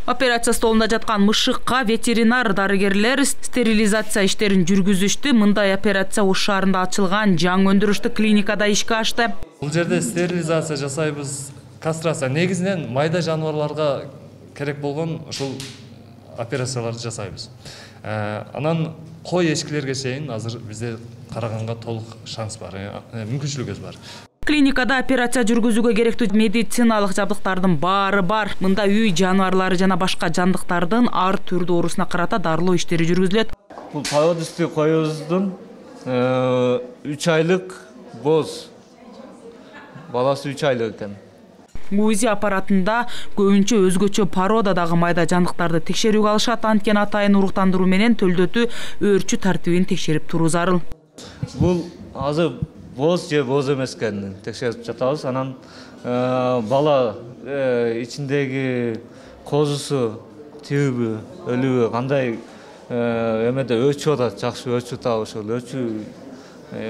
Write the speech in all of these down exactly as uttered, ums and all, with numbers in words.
Операция столунда жаткан мышыкка ветеринар дарыгерлер стерилизация иштерин жүргүзүштү. Мындай операция Ош шаарында ачылган жаңы өндүрүштүк клиникада ишке ашты. Бул жерде стерилизация жасайбыз. Кастрация негизинен майда жаныбарларга керек болгон ушул операцияларды жасайбыз. Анан кой эчкилерге чейин азыр бизде караганга толук шанс бар, мүмкүнчүлүгүбүз бар. Клиникада операция жүргүзүүгө керектүү медициналык жабдыктардын баары бар. Мында үй жаныбарлары жана башка жандыктардын ар түрдүү оорусуна карата дарылоо иштери жүргүзүлөт. Бул породистүү коюбуздун үч айлык боз. Баласы үч айлык экен. УЗИ аппаратында көбүнчө өзгөчө породадагы майда жандыктарды текшерүүгө алышат. Анткени атайын уруктандыруу менен төлдөтү өөрчү тартибин текшерип туруу зарыл. Бул азыр боз же боз эмес экенин текшерип жатабыз. Анан бала ичиндеги козусу тирүүбү, өлүүбү, кандай эмеде өчүп атат, жакшы өчүп атабы, ошол өчүү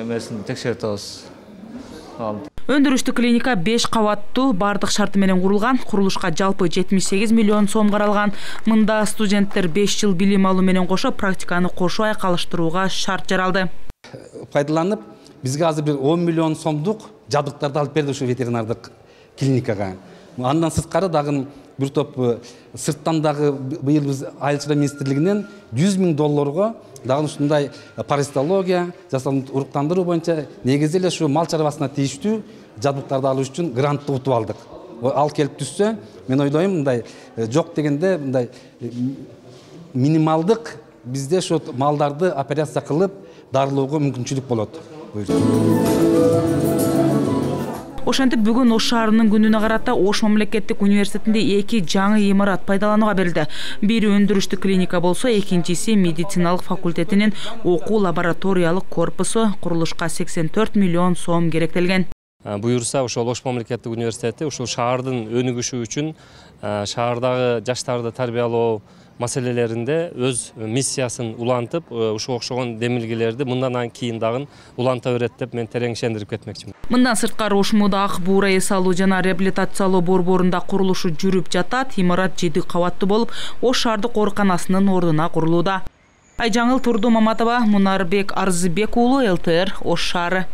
эмесин текшерип атабыз. Өндүрүштүк клиника беш кабаттуу, бардык шарты менен курулган. Курулушка жалпы жетимиш сегиз миллион сом каралган. Мында студенттер беш жыл билим алуу менен кошо практиканы кошо айкалыштырууга шарт жаралды. Пайдаланып, бизге азыр бир он миллион сомдук жабдыктарды алып берди ушу ветеринардык клиникага. Андан сырткары дагы бир топ сырттан дагы быйыл биз Айыл чарба министрлигинен жүз миң долларга дагы ушундай паразитология, жасанды уруктандыруу боюнча негизи эле ушу мал чарбасына тийиштүү жабдыктарды алуу үчүн грантты утуп алдык. Ал келип түшсө, мен ойлойм, мындай жок дегенде мындай минималдык бизде ошо малдарды операция кылып дарылоого мүмкүнчүлүк болот. Ошентип бүгүн Ош шаарынын күнүнө карата Ош мамлекеттик университетинде эки жаңы имарат пайдаланууга берилди. Бири өндүрүштүк клиника болсо, экинчиси медициналык факультетинин окуу лабораториялык корпусу. Курулушка сексен төрт миллион сом керектелген. Буюрса, ошол Ош мамлекеттик университети ушул шаардын өнүгүшү үчүн шаардагы жаштарды тарбиялоо маселелеринде өз миссиясын улантып, ушуга окшогон демилгелерди мындан кийин дагы уланта берет деп мен терең ишендирип кетмекчимин. Мындан сырткары Ош муда ак буура эс алуу жана реабилитациялоо борборунда курулушу жүрүп жатат. Имарат жети кабаттуу болуп, Ош шаардык ооруканасынын ордуна курулууда. Айжаңыл Турду Маматова, Мунарбек Арзыбек уулу, эл тэ эр, Ош шаары.